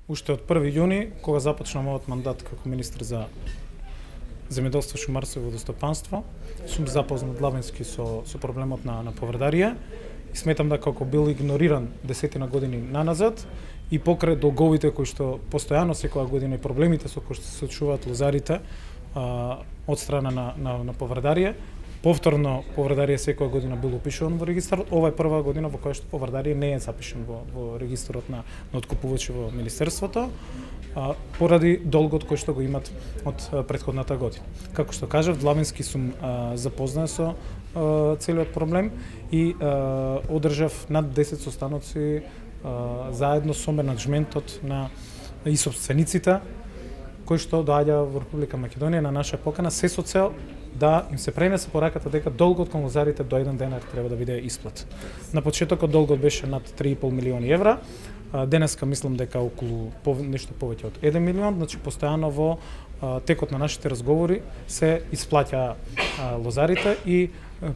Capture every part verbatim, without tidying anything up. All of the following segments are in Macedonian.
уште од први јуни, кога започна мојот мандат како министар за земјоделство, шумарство и водостопанство, сум запознат длабински со со проблемот на на поврдарија и сметам дека како бил игнориран десетина години наназад и покрај долговите кои што постојано секоја година и проблемите со кои што се соочуваат лозарите а, од страна на на, на поврдарија. Повторно поврдарија секоја година бил упишуван во регистар. Ова е прва година во која што поврдарија не е запишан во, во регистарот на, на откупувачи во министерството, а, поради долгот кој што го имат од а, претходната година. Како што кажав, длабински сум а, запознат со а, целиот проблем и а, одржав над десет состаноци а, заедно со менаџментот на и собствениците кои што доаѓа во Република Македонија на наша покана, се со цел да им се пренесе пораката дека долгот кон лозарите до еден денар треба да биде исплат. На почетокот долгот беше над три и пол милиони евра, денеска мислам дека околу нешто повеќе од еден милион, значи постојано во а, текот на нашите разговори се исплаќа а, лозарите и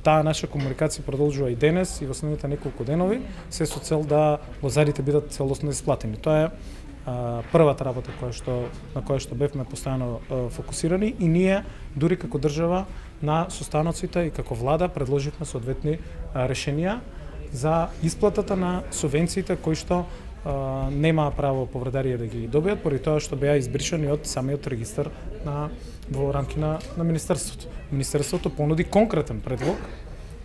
таа наша комуникација продолжува и денес и во следните неколку денови, се со цел да лозарите бидат целосно исплатени. Тоа е Uh, првата работа која што на која што бевме постојано uh, фокусирани и ние дури како држава на состаноците и како влада предложивме соодветни uh, решенија за исплатата на субвенциите кои што uh, немаа право поврдарија да ги добијат поради тоа што беа избришани од самиот регистар на во рамки на, на министерството. Министерството понуди конкретен предлог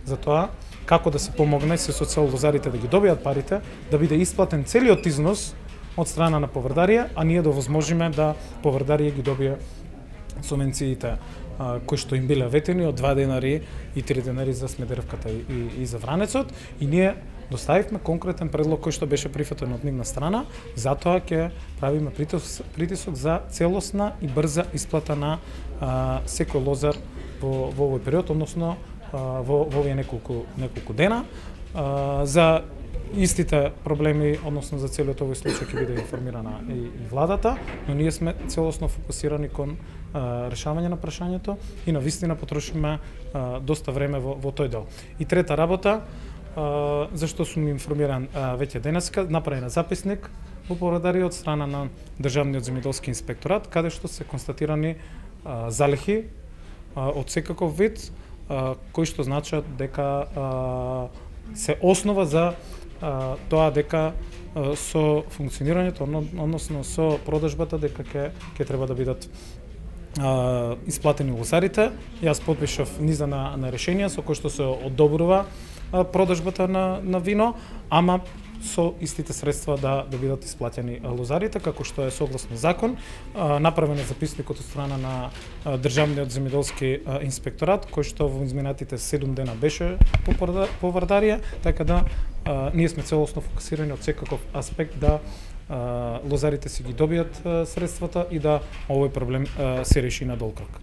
за тоа како да се помогне се со цел лозарите да ги добијат парите, да биде исплатен целиот износ од страна на поврдарија, а ние да возможиме да поврдарија ги добие субвенциите кои што им биле ветени од два денари и три денари за Смедеревката и, и, и за Вранецот, и ние доставивме конкретен предлог кој што беше прифатен од нивна страна, затоа ќе правиме притисок, притисок за целосна и брза исплата на а, секој лозар во, во овој период, односно а, во, во овие неколку, неколку дена. А, за истите проблеми, односно за целиот овој случај ќе биде информирана и, и владата, но ние сме целосно фокусирани кон а, решавање на прашањето и на вистина потрошиме а, доста време во, во тој дел. И трета работа, а, зашто сум информиран а, веќе денеска, направена записник во поврдарија од страна на Државниот земјоделски инспекторат, каде што се констатирани а, залихи а, од секаков вид, а, кои што значат дека а, се основа за а, тоа дека а, со функционирањето, односно со продажбата, дека ќе ќе треба да бидат а, исплатени лозарите. Јас подпишав низа на, на решенија со кои што се одобрува а, продажбата на, на вино, ама со истите средства да да бидат исплатени лозарите, како што е согласно закон. А, направен е записникот од страна на а, Државниот земјоделски а, инспекторат, кој што во изминатите седум дена беше по поврдарија, така да а, ние сме целосно фокусирани од секаков аспект да а, лозарите си ги добијат а, средствата и да овој проблем а, се реши на долг рок.